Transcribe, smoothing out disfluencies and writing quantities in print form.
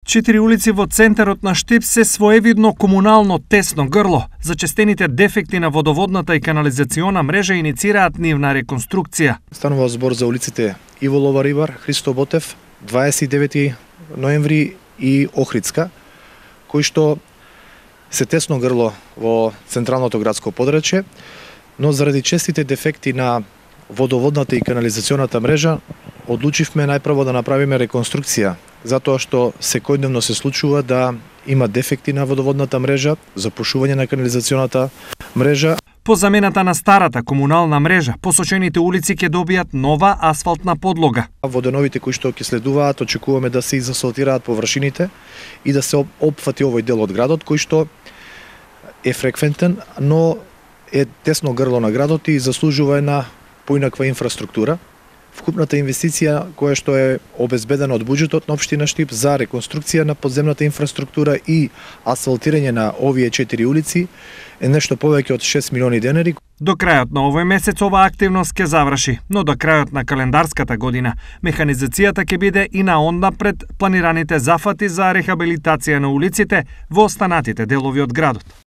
4 улици во центарот на Штип се своевидно комунално тесно грло. Зачестените дефекти на водоводната и канализациона мрежа иницираат нивна реконструкција. Станува збор за улиците Иволова Рибар, Христо Ботев, 29 ноември и Охридска, кои што се тесно грло во централното градско подрачје, но заради честите дефекти на водоводната и канализационата мрежа, одлучивме најпрво да направиме реконструкција, затоа што секојдневно се случува да има дефекти на водоводната мрежа, запушување на канализационата мрежа. По замената на старата комунална мрежа, посочените улици ќе добијат нова асфалтна подлога. Воденовите кои што ќе следуваат, очекуваме да се изасфалтираат површините и да се опфати овој дел од градот кој што е фреквентен, но е тесно грло на градот и заслужува една поинаква инфраструктура. Вкупната инвестиција која што е обезбедена од буџетот на општина Штип за реконструкција на подземната инфраструктура и асфалтирање на овие 4 улици е нешто повеќе од 6 милиони денари. До крајот на овој месец оваа активност ќе заврши, но до крајот на календарската година механизацијата ќе биде и на онда пред планираните зафати за рехабилитација на улиците во останатите делови од градот.